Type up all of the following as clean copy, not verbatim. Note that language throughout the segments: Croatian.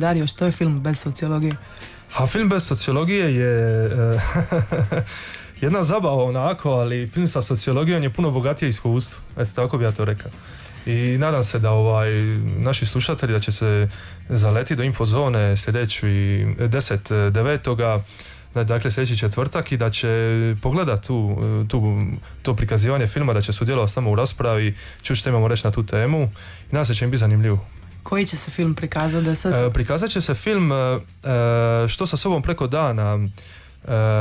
Dario, što je film bez sociologije? A film bez sociologije je jedna zabava onako, ali film sa sociologijom je puno bogatije iskustvo. Eto, tako bi ja to rekao. I nadam se da naši slušatelji da će se zaleti do Infozone sljedeći 10.9. Dakle sljedeći četvrtak i da će pogledati to prikazivanje filma, da će sudjelovati samo u raspravi, čući što imamo reći na tu temu i nadam se će im biti zanimljivo. Koji će se film prikazati? Prikazat će se film Što sa sobom preko dana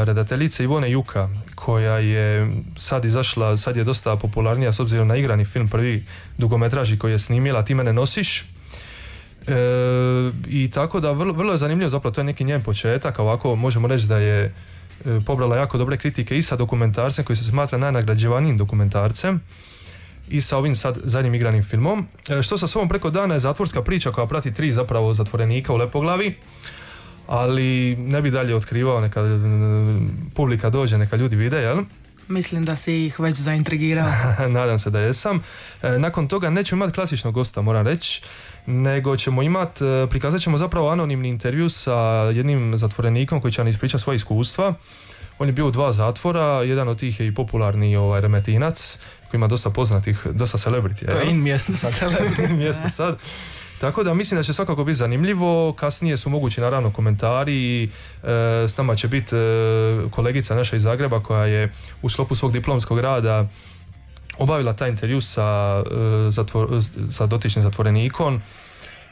redateljice Ivone Juka, koja je sad izašla, sad je dosta popularnija s obzirom na igrani film, prvi dugometraži koji je snimila Ti mene nosiš. I tako da vrlo je zanimljivo, zapravo to je neki njen početak, ovako možemo reći da je pobrala jako dobre kritike i sa dokumentarcem koji se smatra najnagrađivanijim dokumentarcem i sa ovim sad zadnjim igranim filmom. Što sa sobom preko dana je zatvorska priča koja prati 3 zapravo zatvorenika u Lepoglavi, ali ne bi dalje otkrivao, neka publika dođe, neka ljudi vide, jel? Mislim da si ih već zaintrigirao. Nadam se da jesam. Nakon toga nećemo imati klasičnog gosta, moram reći, nego ćemo prikazat ćemo zapravo anonimni intervju sa jednim zatvorenikom koji će nam ispričati svoje iskustva. On je bio u 2 zatvora, jedan od tih je i popularni Remetinac, koji ima dosta poznatih, dosta celebrity. To je in mjesto sad. Mjesto sad. Tako da mislim da će svakako biti zanimljivo. Kasnije su mogući naravno komentari. S nama će biti kolegica naša iz Zagreba koja je u sklopu svog diplomskog rada obavila taj intervju sa dotičnim zatvorenikom.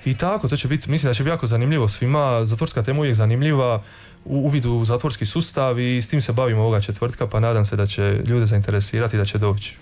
I tako, to će biti, mislim da će biti jako zanimljivo svima. Zatvorska tema uvijek zanimljiva, uvid u zatvorski sustav i s tim se bavimo ovoga četvrtka, pa nadam se da će ljude zainteresirati i da će doći.